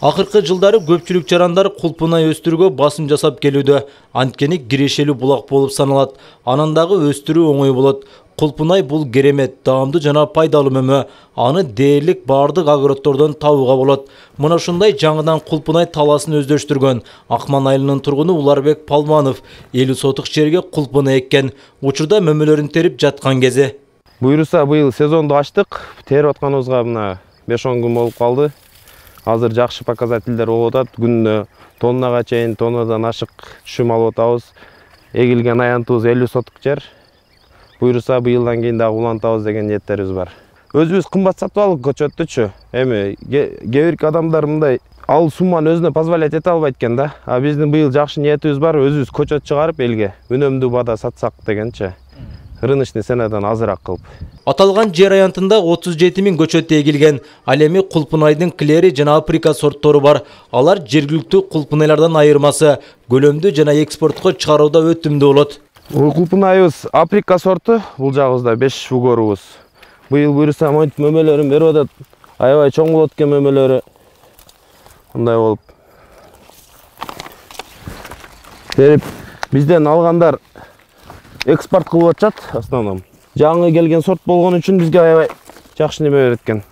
Акыркы жылдары көпчүлүк жарандар кулпунай өстүрүүгө басым жасап келүүдө. Анткени кирешелүү булак болуп саналат. Анан дагы өстүрүү оңой болот. Кулпунай бул керемет, даамдуу жана пайдалуу мөмө. Аны дээрлик бардык огороддордон табууга болот. Мына ушундай жаңыдан кулпунай таласын өздөштүргөн Акман айылынын тургуну Уларбек Палманов 50 сотук жерге кулпунай эккен. Учурда мөмөлөрүн терип жаткан кези. Буйруса быйыл сезонду ачтык. Терип атканыбызга мына 5-10 күн болуп калды. Азыр жакшы показательдер болуп атат. Күнүнө тоннага чейин, тоннадан ашык түшүм алып атабыз. Эгилген аянтыбыз 50 сотук жер. Буйруса быйылдан кийин дагы улантабыз деген ниеттерибиз бар. Өзүбүз кымбат сатып алдык көчөттүчү. Эми кээ бир адамдар мындай ал сумманы өзүнө позволять эте албайт экен да. А биздин быйыл жакшы ниетибиз бар, өзүбүз көчөт чыгарып элге үнөмдүү бада сатсак дегенчи. Рыночный ценадан азыраак кылып. Аталган жер аянтында 37 000 көчөт эгилген. Ал эми кулпунайдын клери жана априка сорттору бар. Алар жергиликтүү кулпунайлардан айырмасы көлөмдүү жана экспортко чыгарууда өтүмдүү болот. Кулпунайыбыз априка сорту, бул жагыбызда 5 угорубуз. Быйыл буйруса монтип мөмөлөрүн берип атат. Аябай чоң болот экен мөмөлөрү. Мындай болуп. Терип бизден алгандар экспорт кылып атышат основном. Жаңы келген сорт болгон үчүн бизге аябай жакшы неме берет экен.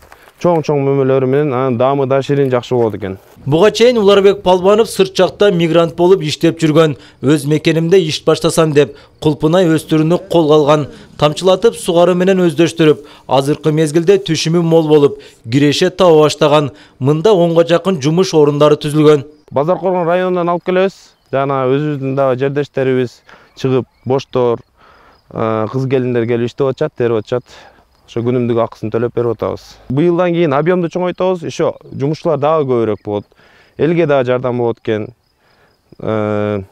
Чоң-чоң мөмөлөрү менен анын даамы да ширин жакшы болот экен. Буга чейин Уларбек Палманов сырт жакта мигрант болуп иштеп жүргөн. Өз мекенимде иш баштасам деп кулпунай өстүрүүнү колго алган. Тамчылатып сугаруу менен өздөштүрүп, азыркы мезгилде түшүмү мол болуп, киреше таба баштаган. Мында 10га жакын жумуш орундары түзүлгөн. Базар Коргон районунан алып келебиз. Жана өзүбүздүн дагы жердештерибиз чыгып боштор, кыз келиндер келип иштеп атышат, терип атышат. Ошо күнүмдүк акысын төлөп берип атабыз. Быйылдан кийин объемду чоңойтабыз, еще жумушчулар дагы көбүрөөк болот. Элге дагы жардам болот экен. 1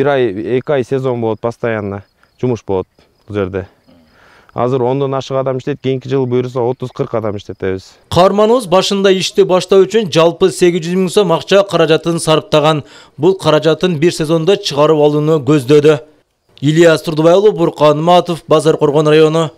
ай, 2 ай сезон болот, постоянно жумуш болот бул жерде. Азыр 10дон ашык адам иштейт, кийинки жыл буйруса 30-40 адам иштетебиз. Каарманыбыз башында ишти баштоо үчүн жалпы 800 000 сом акча каражатын сарптаган. Бул каражатын бир сезондо чыгарып алууну көздөдү. Ильяс Турдубай уулу, Буркан Матов, Базар Коргон району.